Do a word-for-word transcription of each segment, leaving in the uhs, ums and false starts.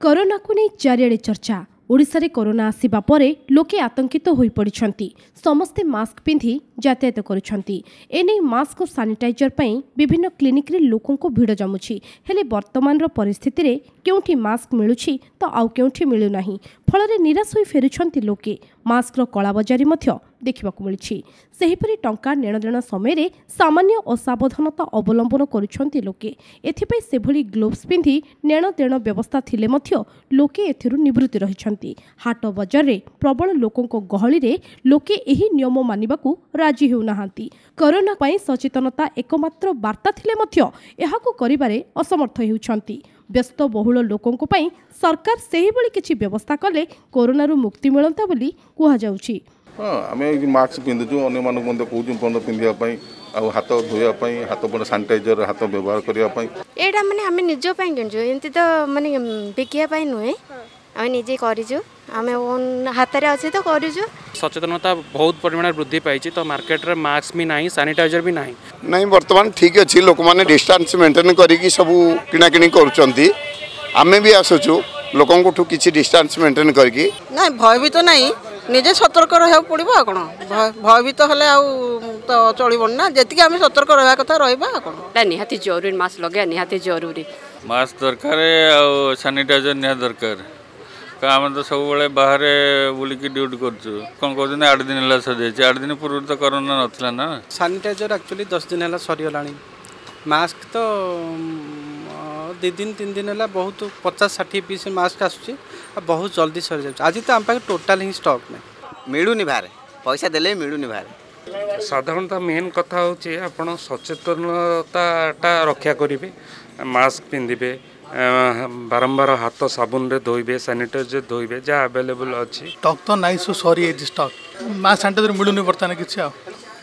କରୋନାକୁ ନେଇ ଚାରିଆଡ଼େ ଚର୍ଚ୍ଚା। ଓଡ଼ିଶାରେ କରୋନା ଆସିବା ପରେ ଲୋକେ ଆତଙ୍କିତ ହୋଇପଡ଼ିଛନ୍ତି। ସମସ୍ତେ ମାସ୍କ ପିନ୍ଧି ଯାତାୟାତ କରୁଛନ୍ତି। ଏନେଇ ମାସ୍କ ଓ ସାନିଟାଇଜର ପାଇଁ ବିଭିନ୍ନ କ୍ଲିନିକ୍ରେ ଲୋକଙ୍କ ଭିଡ଼ ଜମୁଛି। ହେଲେ ବର୍ତ୍ତମାନର ପରିସ୍ଥିତିରେ କେଉଁଠି ମାସ୍କ ମିଳୁଛି ତ ଆଉ କେଉଁଠି ମିଳୁନାହିଁ। ଫଳରେ ନିରାଶ ହୋଇ ଫେରୁଛନ୍ତି ଲୋକେ। ମାସ୍କର କଳାବଜାରୀ ମଧ୍ୟ ଦେଖିବାକୁ ମିଳିଛି। ସେହିପରି ଟଙ୍କା ନେଣଦେଣ ସମୟରେ ସାମାନ୍ୟ ଅସାବଧାନତା ଅବଲମ୍ବନ କରୁଛନ୍ତି ଲୋକେ। ଏଥିପାଇଁ ସେଭଳି ଗ୍ଲୋଭ୍ସ ପିନ୍ଧି ନେଣଦେଣ ବ୍ୟବସ୍ଥା ଥିଲେ ମଧ୍ୟ ଲୋକେ ଏଥିରୁ ନିବୃତ୍ତି ରହିଛନ୍ତି। ହାଟ ବଜାରରେ ପ୍ରବଳ ଲୋକଙ୍କ ଗହଳିରେ ଲୋକେ ଏହି ନିୟମ ମାନିବାକୁ ରାଜି ହେଉନାହାନ୍ତି। କରୋନା ପାଇଁ ସଚେତନତା ଏକମାତ୍ର ବାର୍ତ୍ତା ଥିଲେ ମଧ୍ୟ ଏହାକୁ କରିବାରେ ଅସମର୍ଥ ହେଉଛନ୍ତି। ବ୍ୟସ୍ତବହୁଳ ଲୋକଙ୍କ ପାଇଁ ସରକାର ସେହିଭଳି କିଛି ବ୍ୟବସ୍ଥା କଲେ କରୋନାରୁ ମୁକ୍ତି ମିଳନ୍ତା ବୋଲି କୁହାଯାଉଛି। ହଁ, ଆମେ ଏଇ ମାସ୍କ ପିନ୍ଧୁଛୁ, ଅନ୍ୟମାନଙ୍କୁ ମଧ୍ୟ କହୁଛୁ ମଧ୍ୟ ପିନ୍ଧିବା ପାଇଁ, ଆଉ ହାତ ଧୋଇବା ପାଇଁ, ହାତ ସାନିଟାଇଜର ହାତ ବ୍ୟବହାର କରିବା ପାଇଁ। ଏଇଟା ମାନେ ଆମେ ନିଜ ପାଇଁ କିଣିଛୁ, ଏମିତି ତ ମାନେ ବିକିବା ପାଇଁ ନୁହେଁ। ଆମେ ନିଜେ କରିଛୁ, ଆମେ ଓନ୍ ହାତରେ ଅଛି ତ କରିଛୁ। ସଚେତନତା ବହୁତ ପରିମାଣରେ ବୃଦ୍ଧି ପାଇଛି, ତ ମାର୍କେଟରେ ମାସ୍କ ବି ନାହିଁ, ସାନିଟାଇଜର ବି ନାହିଁ। ନାଇଁ, ବର୍ତ୍ତମାନ ଠିକ୍ ଅଛି। ଲୋକମାନେ ଡିଷ୍ଟାନ୍ସ ମେଣ୍ଟେନ୍ କରିକି ସବୁ କିଣାକିଣି କରୁଛନ୍ତି। ଆମେ ବି ଆସୁଛୁ ଲୋକଙ୍କଠୁ କିଛି ଡିଷ୍ଟାନ୍ସ ମେଣ୍ଟେନ୍ କରିକି। ନାଇଁ, ଭୟଭୀତ ନାହିଁ, ନିଜେ ସତର୍କ ରହିବାକୁ ପଡ଼ିବ। ଆଉ କ'ଣ, ଭୟଭୀତ ହେଲେ ଆଉ ତ ଚଳିବନି ନା। ଯେତିକି ଆମେ ସତର୍କ ରହିବା କଥା ରହିବା, ଆଉ କ'ଣ। ନିହାତି ଜରୁରୀ, ମାସ୍କ ଲଗାଇବା ନିହାତି ଜରୁରୀ। ମାସ୍କ ଦରକାର ଆଉ ସାନିଟାଇଜର ନିହାତି ଦରକାର। ଆମେ ତ ସବୁବେଳେ ବାହାରେ ବୁଲିକି ଡ୍ୟୁଟି କରୁଛୁ। କ'ଣ କହୁଛନ୍ତି, ଆଠ ଦିନ ହେଲା ସରିଯାଇଛି। ଆଠ ଦିନ ପୂର୍ବରୁ ତ କରୋନା ନଥିଲା ନା। ସାନିଟାଇଜର ଆକ୍ଚୁଆଲି ଦଶ ଦିନ ହେଲା ସରିଗଲାଣି। ମାସ୍କ ତ ଦୁଇ ଦିନ ତିନି ଦିନ ହେଲା ବହୁତ, ପଚାଶ ଷାଠିଏ ପିସ୍ ମାସ୍କ ଆସୁଛି ଆଉ ବହୁତ ଜଲ୍ଦି ସରିଯାଉଛି। ଆଜି ତ ଆମ ପାଖରେ ଟୋଟାଲ୍ ହିଁ ଷ୍ଟକ୍ ନାହିଁ। ମିଳୁନି ବାହାରେ, ପଇସା ଦେଲେ ବି ମିଳୁନି ବାହାରେ। ସାଧାରଣତଃ ମେନ୍ କଥା ହେଉଛି ଆପଣ ସଚେତନତାଟା ରକ୍ଷା କରିବେ, ମାସ୍କ ପିନ୍ଧିବେ, ବାରମ୍ବାର ହାତ ସାବୁନରେ ଧୋଇବେ, ସାନିଟାଇଜର ଧୋଇବେ, ଯାହା ଆଭେଲେବୁଲ୍ ଅଛି। ଷ୍ଟକ୍ ତ ନାହିଁ, ସବୁ ସରିଯାଇଛି ଷ୍ଟକ୍। ମାସ୍କ ସାନିଟାଇଜର ମିଳୁନି ବର୍ତ୍ତମାନ କିଛି। ଆଉ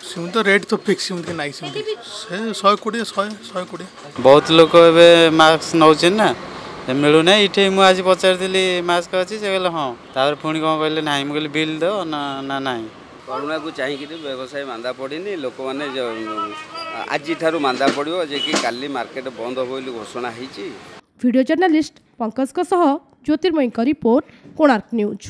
ସେମିତି ତ ରେଟ୍ ତ ଫିକ୍ସ, ସେମିତି ନାହିଁ। ସେମିତି ସେ ଶହେ କୋଡ଼ିଏ, ଶହେ ଶହେ କୋଡ଼ିଏ। ବହୁତ ଲୋକ ଏବେ ମାସ୍କ ନେଉଛନ୍ତି ନା, ମିଳୁନାହିଁ ଏଇଠି। ମୁଁ ଆଜି ପଚାରିଥିଲି ମାସ୍କ ଅଛି, ସେ କହିଲେ ହଁ, ତାପରେ ପୁଣି କ'ଣ କହିଲେ ନାହିଁ। ମୁଁ କହିଲି ବିଲ୍ ଦିଅ ନା, ନା ନାହିଁ। କରୋନାକୁ ଚାହିଁକିରି ବ୍ୟବସାୟ ମାନ୍ଦା ପଡ଼ିନି। ଲୋକମାନେ ଆଜିଠାରୁ ମାନ୍ଦା ପଡ଼ିବ ଯେ କି କାଲି ମାର୍କେଟ ବନ୍ଦ ହେବ ବୋଲି ଘୋଷଣା ହେଇଛି। ଭିଡ଼ିଓ ଜର୍ଣ୍ଣାଲିଷ୍ଟ ପଙ୍କଜଙ୍କ ସହ ଜ୍ୟୋତିର୍ମୟୀଙ୍କ ରିପୋର୍ଟ, କୋଣାର୍କ ନ୍ୟୁଜ୍।